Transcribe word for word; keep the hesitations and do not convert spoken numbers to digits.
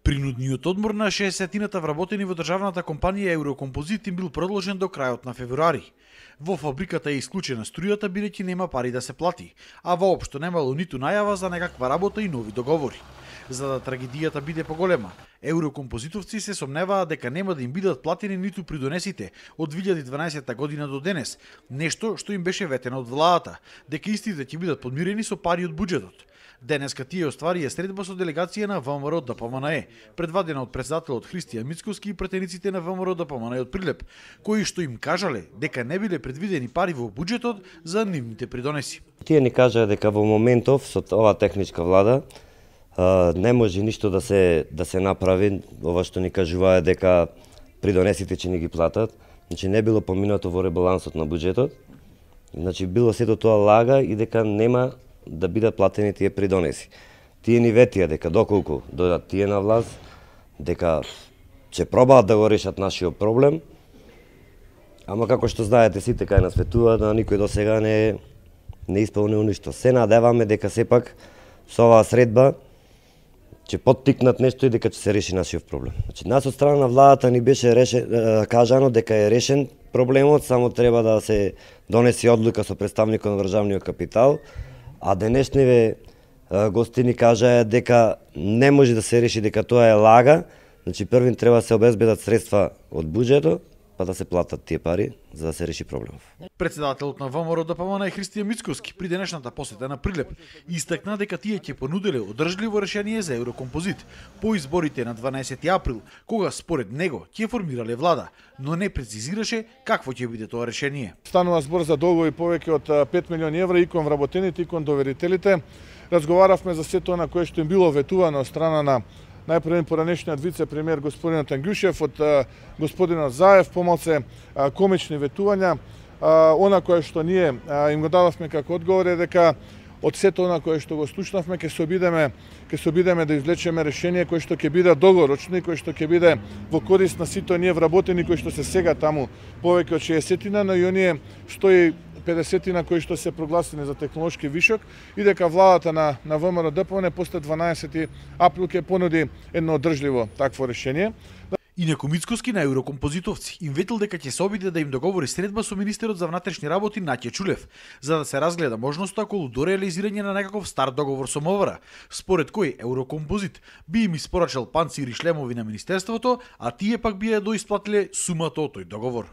Принудниот одмор на шеесеттината вработени во државната компанија Еврокомпозит им бил продолжен до крајот на февруари. Во фабриката е исклучена струјата бидејќи нема пари да се плати, а воопшто немало ниту најава за некаква работа и нови договори. За да трагедијата биде поголема, еврокомпозитовци се сомневаат дека нема да им бидат платени ниту придонесите од две илјади и дванаесетта година до денес, нешто што им беше ветено од владата, дека истите ќе бидат подмирени со пари од буџетот. Денеска тие остварија средба со делегација на ВМРО ДПМНЕ, предвадена од претседателот Христијан Мицкоски и претениците на ВМРО ДПМНЕ од Прилеп, кои што им кажале дека не биле предвидени пари во буџетот за нивните придонеси. Тие ни кажаа дека во моментов со оваа техничка влада не може ништо да се да се направи, ова што ни кажуваа дека придонесите ќе ни ги платат. Значи не било поминато во ребалансот на буџетот. Значи било сето тоа лага и дека нема да бидат платени тие придонеси. Тие ни ветија дека доколку дојдат тие на власт, дека ќе пробаат да го решат нашиот проблем, ама како што знаете сите кај нас ветуваат, да никој до сега не не исполнил ништо. Се надеваме дека сепак со оваа средба ќе поттикнат нешто и дека ќе се реши нашиот проблем. Значи нас од страна на владата ни беше решен, кажано дека е решен проблемот, само треба да се донесе одлука со представникот на државниот капитал. А денешниве гости ни кажаа дека не може да се реши, дека тоа е лага. Значи првин треба да се обезбедат средства од буџетот, па да се платат тие пари за да се реши проблемов. Председателот на ВМРО ДПМНЕ Христијан Мицкоски при денешната посета на Прилеп истакна дека тие ќе понуделе одржливо решение за Еврокомпозит по изборите на дванаесети април, кога според него ќе формирале влада, но не прецизираше какво ќе биде тоа решение. Станува збор за долгови повеќе од пет милиони евра и кон вработените и кон доверителите. Разговаравме за сето на кое што им било ветувано од страна на најпрвен поранешниот вице-премиер господинот Ангјушев, од господинот Заев, помалце комични ветувања. Она кое што ние им го дадовме како одговор е дека од сето она кое што го слушнавме ќе се обидеме ќе се обидеме да извлечеме решение кое што ќе биде долгорочно и кое што ќе биде во корист на сите оние вработени кои што се сега таму повеќе од шеесеттина, но и оние сто и педесетина кои што се прогласени за технолошки вишок и дека владата на на ВМРО ДПМНЕ после дванаесети април ќе понуди едно одржливо такво решение. Инаку Мицкоски на еврокомпозитовци им ветил дека ќе се обиде да им договори средба со министерот за внатрешни работи Наќе Чулев, за да се разгледа можноста околу до реализирање на некаков стар договор со МВР, според кој Еврокомпозит би им испорачал панцири и шлемови на министерството, а тие пак би ја доисплатиле сумата од тој договор.